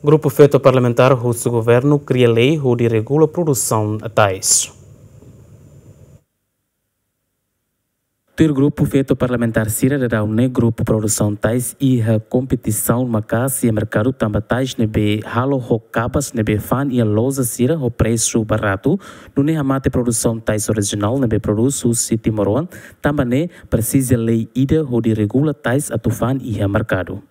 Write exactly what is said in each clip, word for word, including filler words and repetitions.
Grupu feto parlamentár husu governu kria lei hodi regula produsaun tais. Tuir grupu feto parlamentár sira, daudaun ne'e grupu produsaun tais iha kompetisaun maka'as iha merkadu tanba tais ne'ebé halo ho kabas ne'ebé fa'an iha loja sira ho presu baratu, nune'e hamate produsaun tais orijinál ne'ebé prodús husi timoroan, tanba ne'e presiza lei ida hodi regula tais atu fa'an iha merkadu.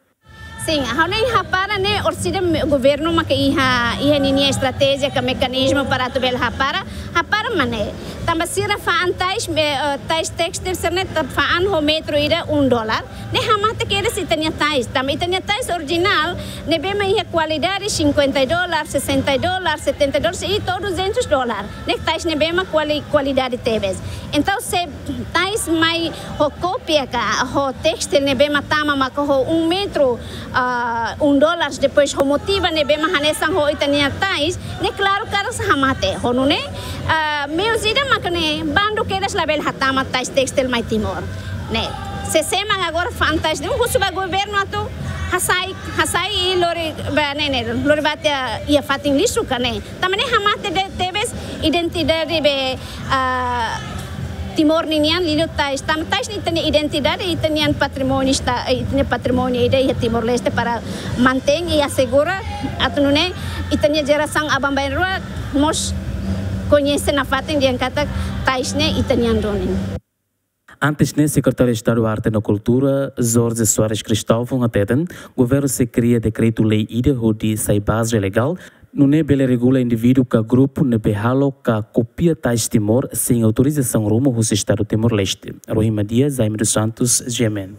Sin, ha'u ne'e hapara ne'e orsida me-, governu maka iha, iha ninia estratéjia ka mekanizmu para atu bele hapara, hapara mak ne'e. Tanba sira fa'an tais, eh, eh, tais tékstil sira-ne'e ta fa'an ho metru ida um dólar. Ne'e hamate kedas ita-nia tais. Tanba ita-nia tais orijinál, ne'ebé mak iha kualidade cinquenta dólar, sessenta dólar, setenta dólar, se ita duzentos dólar. Ne'e tais ne'ebé mak kuali-, kualidade tebes. Entaun, se tais mai ho kópia ka, ho tékstil ne'ebé mak tama maka ho um metru, ah, um dólar, depois ho motivu ne'ebé mak hanesan ho ita-nia tais, ne'e klaru katak hamate. Ho nune'e, ah, meius ida maka ne'e, bandu kedas labele hatama tais tékstil mai Timor. Ne'e, sé-sé mak agora fa'an tais ne'e, husu ba governu atu hasai, hasai i lori ba ne'e, ne'e, lori ba tiha iha fatin lixu ka ne'e. Tanba ne'e hamate de-, tebes identidade be, ah, Timor ninian liuliu tais. Tanba tais ne'e ita-nia identidade, ita-nian patrimóniu esta-, eh, ita-nia patrimóniu ida iha Timor-Leste para mantein i asegura atu nune'e ita-nia jerasaun aban-bainrua mós koñese nafatin dehan katak tais ne'e ita-nian duni. Antes ne'e, Sekretáriu Estadu Arte no Kultura, Jorge Soares Cristóvão, hateten, governu sei kria dekretu-lei ida hodi sai baze legál, nune'e bele regula indivíduu ka grupu ne'ebé halo ka kopia tais Timor sein autorizasaun ruma husi Estadu Timor-Leste. Rohima Dias, Jaime dos Santos, G M N.